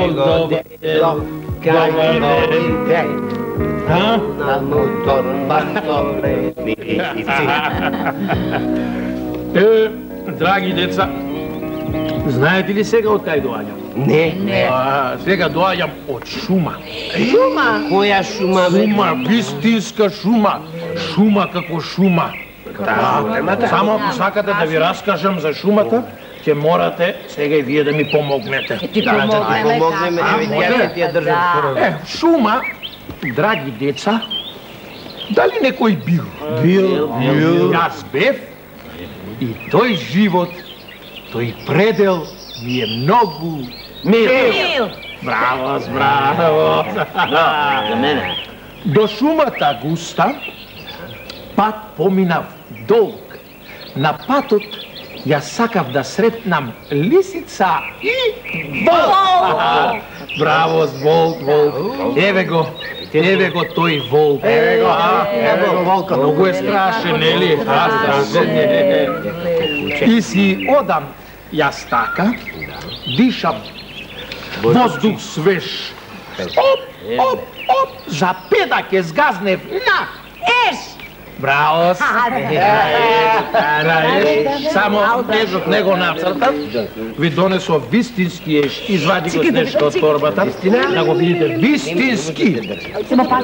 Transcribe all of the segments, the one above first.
Добър ден. Драги деца, знаете ли сега од кај доаѓам? Не. Сега доаѓам од шума. Шума? Која шума? Шума, вистинска шума. Шума како шума. Само ако сакате да ви раскажам за шумата, ќе морате сега и вие да ми помогнете. Ти помогнеме, не ти ја држам. Шума, драги деца, дали некој бил? Бил. Јас бев и тој живот, тој предел ми е многу мил. Браво, браво. За мене. До шумата густа пат поминав долг. На патот ја сакав да сретнам лисица и волк. Браво, волк. Еве го тој волк. Еве го волкот. Многу е страшен, нели? Страшен. И си одам јас така, дишам воздух свеж. Оп, за педак ќе згазнев на еш. Браво! Само ежот него нацртав, ви донесов вистински еш, извади го снешка од торбата, да го видите, вистински.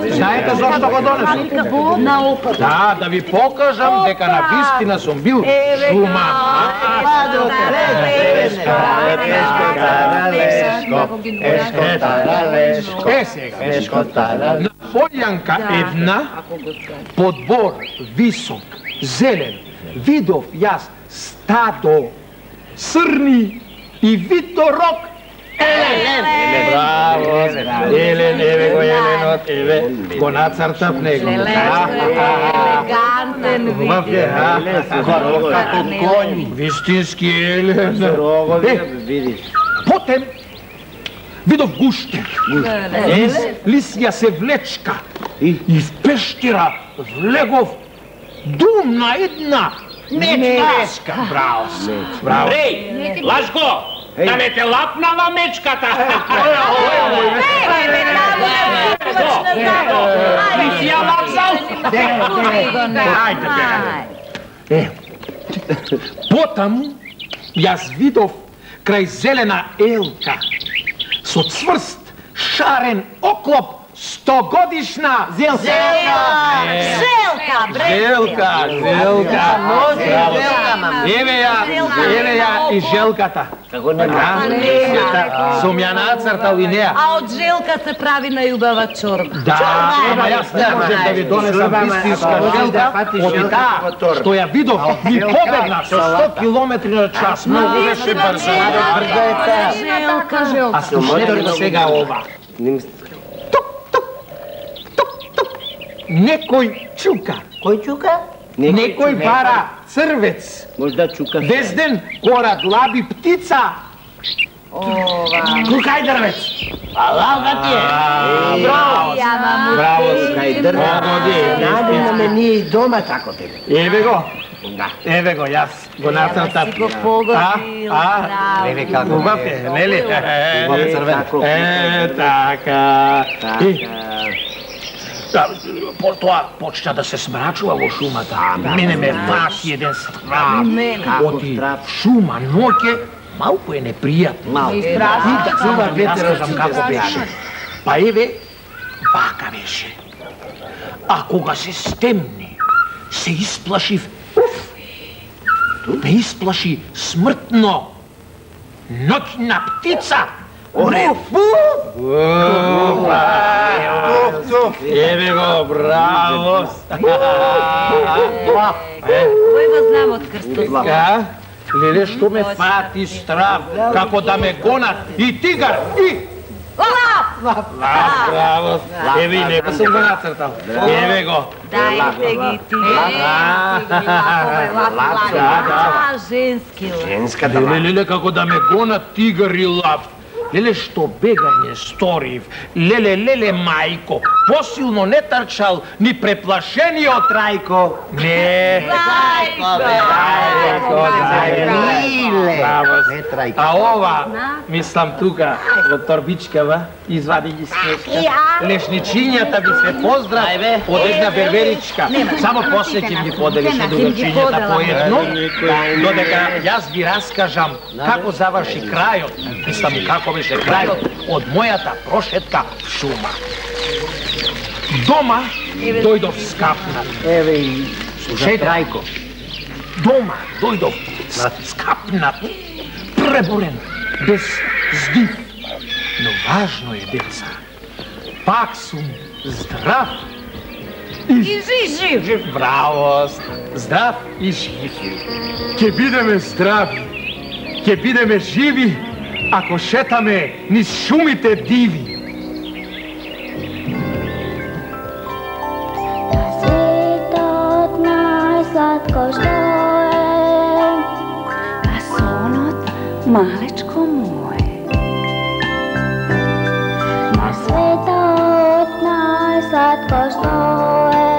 Знаете зашто го донесов? Да ви покажам дека на вистина сум бил шума. На полјанка една, подбор висок, зелен, видов јас стадо, срни и виторок елен. Браво, елен, еве го еленот, еве, го нацртав него. Елегантен вид. Вистински елен. Потем видов гуштер. Лисја се влечка и в пештера влегов дум на една мечка. Браво. Ей, Лашко, да ме те лапнала мечката. Ти си ја лапсал? Потаму јас видов крај зелена елка со цврст, шарен оклоп, 100-годишна зелка. Еве ја и желката. Сум ја нацртал и неа. А од желка се прави најубава чорба. Да, ама јас не можем да ви донесам вистинска желка, од таа што ја видов ми побегна со 100 километри на час. Многу беше брза. А слушнете сега ова. Некој чука. Кој чука? Некој бара црвец. Можда чука. Дезден корад лаби птица. Кукај дрвец. Лалга ти е. Браво, кај дрвец. Наденаме ние и дома тако тебе. Еве го, јас го нацртав. Си го погодил, Еве како убав е, нели? Така. Тоа почна да се смрачува во шумата. Мене ме фати еден страх. Оти шума ноќе малку е непријатно. И чува ветерот како беше. Па еве, вака беше. А кога се стемни, се исплашив. Ме исплаши смртно. Ноќна птица. Еве го, браво! Кој го знам од крстот? Леле, што ме фати страв, како да ме гонат и тигар, и... Лап! Браво! Еве и него сум го нацртал. Еве го. Дајте ги ти. Женски лап. Женска да Леле, како да ме гонат тигар и лап. леле што бегање сторив, леле мајко, посилно не трчал ни преплашениот Трајко. Не. Трајко. А ова, мислам тука, во торбичкава, извади ги снежка. Лешничињата ви се поздрав од една берберичка. Само после ќе ги поделиш од другачињата по едно, додека јас ви раскажам како заврши крајот, мислам како беше крајот од мојата прошетка в шума. Дома дојдов скапнат. Еве и Слушај, Трајко. Дома дојдов скапнат, преборен, без здив. Но важно е, деца, пак сум здрав И жив. Браво, здрав и жив. Ќе бидеме здрави, ќе бидеме живи, ако шетаме низ шумите диви. Светот најсладко што е, а сонот малечко мое. На светот најсладко што е,